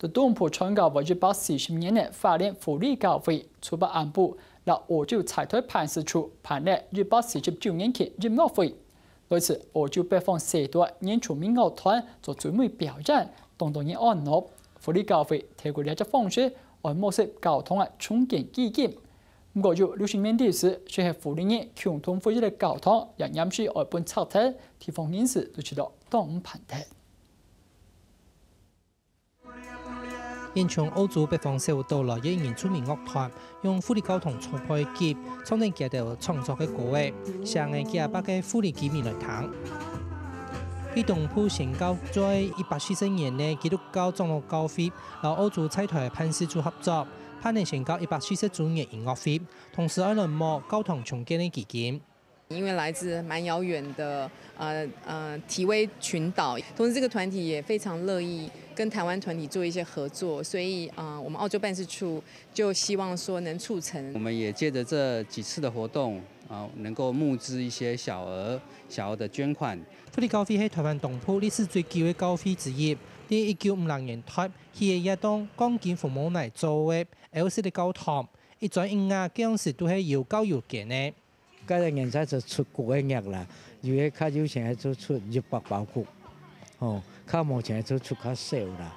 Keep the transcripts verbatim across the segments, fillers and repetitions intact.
東部傳教會一百四十年个花蓮福利教會，初八暗晡，在澳洲差台辦事處辦了一百四十週年慶音樂會。該時，澳洲北方四島原住民樂團做最尾表演，當多人歡樂。福利教會透過這隻方式，愛募集教堂个重建基金。毋過有六十年歷史，就係福利人共同負責个教堂，也臨時愛分拆忒，地方人士都感到當毋盼得。 因從澳洲北方小島來个原住民樂團，用福利教堂做背景，唱等佢兜創作个歌仔，寫个佢兜个福利居民來聽。佢東部宣教在一百四十年个基督教長老教會，摎澳洲在台辦事處合作，辦理宣教一百四十週年音樂會，同時愛來募教堂重建个基金。 因為來自蠻遙遠的呃呃提威群島，同時這個團體也非常樂意跟台灣團體做一些合作，所以啊、呃我們澳洲辦事處就希望說能促成。我們也藉著這幾次的活動啊，能夠募資一些小額小額的捐款。福利教會係台灣東部歷史最久个教會之一，在一九五六年代，起个一棟鋼筋紅毛泥做个歐式个教堂，一磚一瓦當時都係有夠有堅个。 該个年代就出幾个億啦，有个較有錢个就出一百包谷，吼，較無錢个就出較少啦。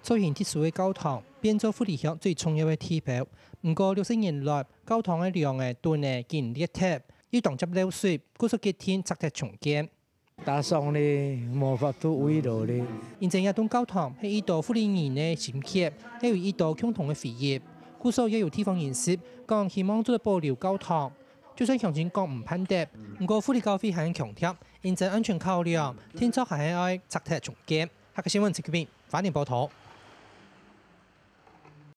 造型特殊个教堂變做福利鄉最重要个地標，毋過六十年來，教堂个樑仔、墩仔緊裂忒，又當捷漏水，故所決定拆忒重建。 打爽咧，無法度維持咧。因為這棟教堂係一兜福利人个心血，也有一兜共同个回憶。故所也有地方人士講，希望做得保留教堂，就算鄉親講毋盼得，毋過福利教會還強調，因為安全考量，定著還係愛拆忒重建。客家新聞陳kümin，花蓮報導。